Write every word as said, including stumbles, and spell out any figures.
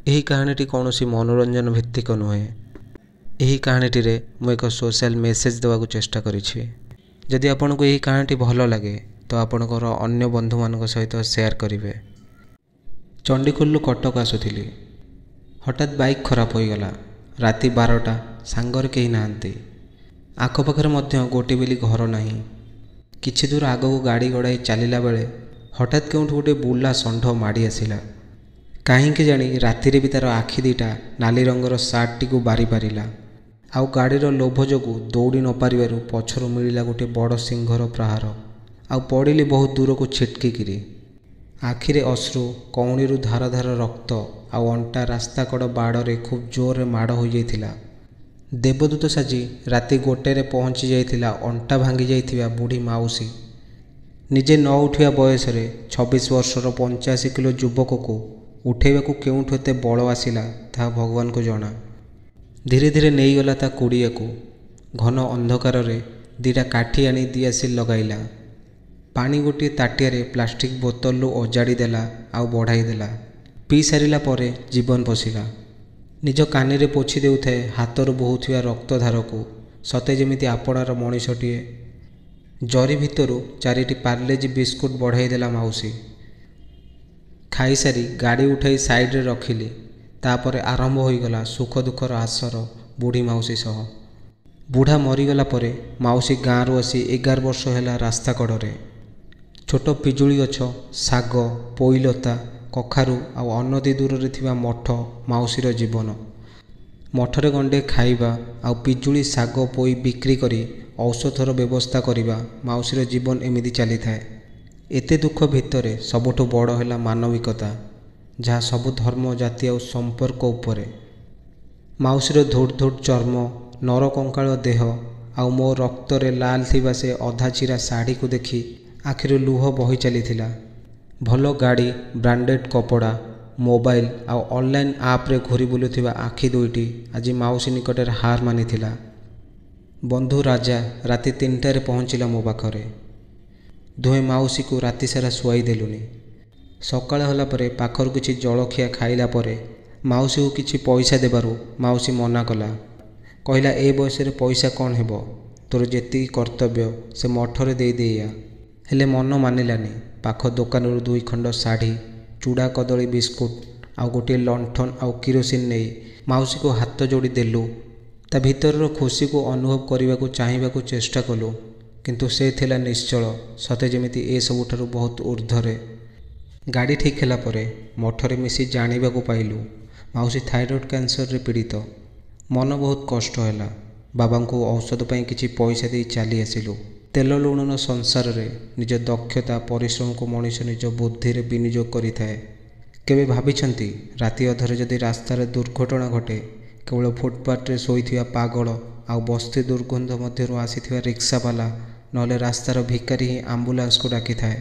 ଏହି କାହାଣୀଟି କୌଣସି ମନୋରଞ୍ଜନ ଭିତ୍ତିକ ନୁହେଁ। ଏହି କାହାଣୀଟିରେ ମୁଁ ଏକ ସୋସିଆଲ୍ ମେସେଜ୍ ଦେବାକୁ ଚେଷ୍ଟା କରିଛି। ଯଦି ଆପଣଙ୍କୁ ଏହି କାହାଣୀଟି ଭଲ ଲାଗେ ତ ଆପଣଙ୍କର ଅନ୍ୟ ବନ୍ଧୁମାନଙ୍କ ସହିତ ସେୟାର କରିବେ। ଚଣ୍ଡିଖୋଲରୁ କଟକ ଆସୁଥିଲି, ହଠାତ୍ ବାଇକ୍ ଖରାପ ହୋଇଗଲା। ରାତି ବାରଟା, ସାଙ୍ଗରେ କେହି ନାହାନ୍ତି, ଆଖପାଖରେ ମଧ୍ୟ ଗୋଟିଏ ବୋଲି ଘର ନାହିଁ। କିଛି ଦୂର ଆଗକୁ ଗାଡ଼ି ଗଡ଼ାଇ ଚାଲିଲା ବେଳେ ହଠାତ୍ କେଉଁଠୁ ଗୋଟିଏ ବୁଲା ଷଣ୍ଢ ମାଡ଼ି ଆସିଲା। କାହିଁକି ଜାଣି ରାତିରେ ବି ତା'ର ଆଖି ଦୁଇଟା ନାଲି ରଙ୍ଗର ସାର୍ଟଟିକୁ ବାରିପାରିଲା, ଆଉ ଗାଡ଼ିର ଲୋଭ ଯୋଗୁଁ ଦୌଡ଼ି ନପାରିବାରୁ ପଛରୁ ମିଳିଲା ଗୋଟିଏ ବଡ଼ ସିଂହର ପ୍ରହାର, ଆଉ ପଡ଼ିଲି ବହୁତ ଦୂରକୁ ଛିଟକିକିରି। ଆଖିରେ ଅଶ୍ରୁ, କହୁଣୀରୁ ଧାର ଧାର ରକ୍ତ, ଆଉ ଅଣ୍ଟା ରାସ୍ତାକଡ଼ ବାଡ଼ରେ ଖୁବ୍ ଜୋରରେ ମାଡ଼ ହୋଇଯାଇଥିଲା। ଦେବଦୂତ ସାଜି ରାତି ଗୋଟାଏରେ ପହଞ୍ଚି ଯାଇଥିଲା ଅଣ୍ଟା ଭାଙ୍ଗି ଯାଇଥିବା ବୁଢ଼ୀ ମାଉସୀ। ନିଜେ ନ ଉଠିବା ବୟସରେ ଛବିଶ ବର୍ଷର ପଞ୍ଚାଅଶୀ କିଲୋ ଯୁବକକୁ ଉଠାଇବାକୁ କେଉଁଠୁ ଏତେ ବଳ ଆସିଲା ତାହା ଭଗବାନଙ୍କୁ ଜଣା। ଧୀରେ ଧୀରେ ନେଇଗଲା ତା କୁଡ଼ିଆକୁ। ଘନ ଅନ୍ଧକାରରେ ଦୁଇଟା କାଠି ଆଣି ଦିଆସିଲି ଲଗାଇଲା। ପାଣି ଗୋଟିଏ ତାଟିଆରେ ପ୍ଲାଷ୍ଟିକ୍ ବୋତଲରୁ ଅଜାଡ଼ି ଦେଲା ଆଉ ବଢ଼ାଇ ଦେଲା। ପିଇ ସାରିଲା ପରେ ଜୀବନ ପଶିଲା। ନିଜ କାନିରେ ପୋଛି ଦେଉଥାଏ ହାତରୁ ବୋହୁଥିବା ରକ୍ତଧାରକୁ, ସତେ ଯେମିତି ଆପଣାର ମଣିଷଟିଏ। ଜରି ଭିତରୁ ଚାରିଟି ପାର୍ଲେଜି ବିସ୍କୁଟ ବଢ଼ାଇ ଦେଲା ମାଉସୀ। ଖାଇସାରି ଗାଡ଼ି ଉଠାଇ ସାଇଡ଼ରେ ରଖିଲି। ତାପରେ ଆରମ୍ଭ ହୋଇଗଲା ସୁଖ ଦୁଃଖର ଆସର ବୁଢ଼ୀ ମାଉସୀ ସହ। ବୁଢ଼ା ମରିଗଲା ପରେ ମାଉସୀ ଗାଁରୁ ଆସି ଏଗାର ବର୍ଷ ହେଲା ରାସ୍ତା କଡ଼ରେ। ଛୋଟ ପିଜୁଳି ଗଛ, ଶାଗ, ପୋଇଲତା, କଖାରୁ ଆଉ ଅନତି ଦୂରରେ ଥିବା ମଠ ମାଉସୀର ଜୀବନ। ମଠରେ ଗଣ୍ଡେ ଖାଇବା ଆଉ ପିଜୁଳି, ଶାଗ, ପୋଇ ବିକ୍ରି କରି ଔଷଧର ବ୍ୟବସ୍ଥା କରିବା ମାଉସୀର ଜୀବନ ଏମିତି ଚାଲିଥାଏ। ଏତେ ଦୁଃଖ ଭିତରେ ସବୁଠୁ ବଡ଼ ହେଲା ମାନବିକତା, ଯାହା ସବୁ ଧର୍ମ, ଜାତି ଆଉ ସମ୍ପର୍କ ଉପରେ। ମାଉସୀର ଧୁଡ଼ ଧୁଡ଼ ଚର୍ମ, ନରକଙ୍କାଳ ଦେହ ଆଉ ମୋ ରକ୍ତରେ ଲାଲ ଥିବା ସେ ଅଧା ଚିରା ଶାଢ଼ୀକୁ ଦେଖି ଆଖିରୁ ଲୁହ ବହି ଚାଲିଥିଲା। ଭଲ ଗାଡ଼ି, ବ୍ରାଣ୍ଡେଡ଼ କପଡ଼ା, ମୋବାଇଲ ଆଉ ଅନଲାଇନ୍ ଆପ୍ରେ ଘୁରି ବୁଲୁଥିବା ଆଖି ଦୁଇଟି ଆଜି ମାଉସୀ ନିକଟରେ ହାର ମାନିଥିଲା। ବନ୍ଧୁ ରାଜା ରାତି ତିନିଟାରେ ପହଞ୍ଚିଲା ମୋ ପାଖରେ। ଦୁହେଁ ମାଉସୀକୁ ରାତିସାରା ଶୁଆଇ ଦେଲୁନି। ସକାଳ ହେଲା ପରେ ପାଖରୁ କିଛି ଜଳଖିଆ ଖାଇଲା ପରେ ମାଉସୀକୁ କିଛି ପଇସା ଦେବାରୁ ମାଉସୀ ମନା କଲା। କହିଲା, ଏ ବୟସରେ ପଇସା କ'ଣ ହେବ, ତୋର ଯେତିକି କର୍ତ୍ତବ୍ୟ ସେ ମଠରେ ଦେଇଦେଇଆ। ହେଲେ ମନ ମାନିଲାନି। ପାଖ ଦୋକାନରୁ ଦୁଇ ଖଣ୍ଡ ଶାଢ଼ୀ, ଚୁଡ଼ା କଦଳୀ ବିସ୍କୁଟ ଆଉ ଗୋଟିଏ ଲଣ୍ଠନ ଆଉ କିରୋସିନ ନେଇ ମାଉସୀକୁ ହାତ ଯୋଡ଼ି ଦେଲୁ। ତା ଭିତରର ଖୁସିକୁ ଅନୁଭବ କରିବାକୁ ଚାହିଁବାକୁ ଚେଷ୍ଟା କଲୁ, କିନ୍ତୁ ସେ ଥିଲା ନିଶ୍ଚଳ, ସତେ ଯେମିତି ଏସବୁଠାରୁ ବହୁତ ଉର୍ଦ୍ଧ୍ୱରେ। ଗାଡ଼ି ଠିକ୍ ହେଲା ପରେ ମଠରେ ମିଶି ଜାଣିବାକୁ ପାଇଲୁ ମାଉସୀ ଥାଇରଏଡ଼୍ କ୍ୟାନ୍ସରରେ ପୀଡ଼ିତ। ମନ ବହୁତ କଷ୍ଟ ହେଲା। ବାବାଙ୍କୁ ଔଷଧ ପାଇଁ କିଛି ପଇସା ଦେଇ ଚାଲି ଆସିଲୁ। ତେଲ ଲୁଣର ସଂସାରରେ ନିଜ ଦକ୍ଷତା, ପରିଶ୍ରମକୁ ମଣିଷ ନିଜ ବୁଦ୍ଧିରେ ବିନିଯୋଗ କରିଥାଏ। କେବେ ଭାବିଛନ୍ତି ରାତି ଅଧରେ ଯଦି ରାସ୍ତାରେ ଦୁର୍ଘଟଣା ଘଟେ, କେବଳ ଫୁଟପାଥରେ ଶୋଇଥିବା ପାଗଳ ଆଉ ବସ୍ତି ଦୁର୍ଗନ୍ଧ ମଧ୍ୟରୁ ଆସିଥିବା ରିକ୍ସାବାଲା ନହେଲେ ରାସ୍ତାର ଭିକାରୀ ହିଁ ଆମ୍ବୁଲାନ୍ସକୁ ଡାକିଥାଏ।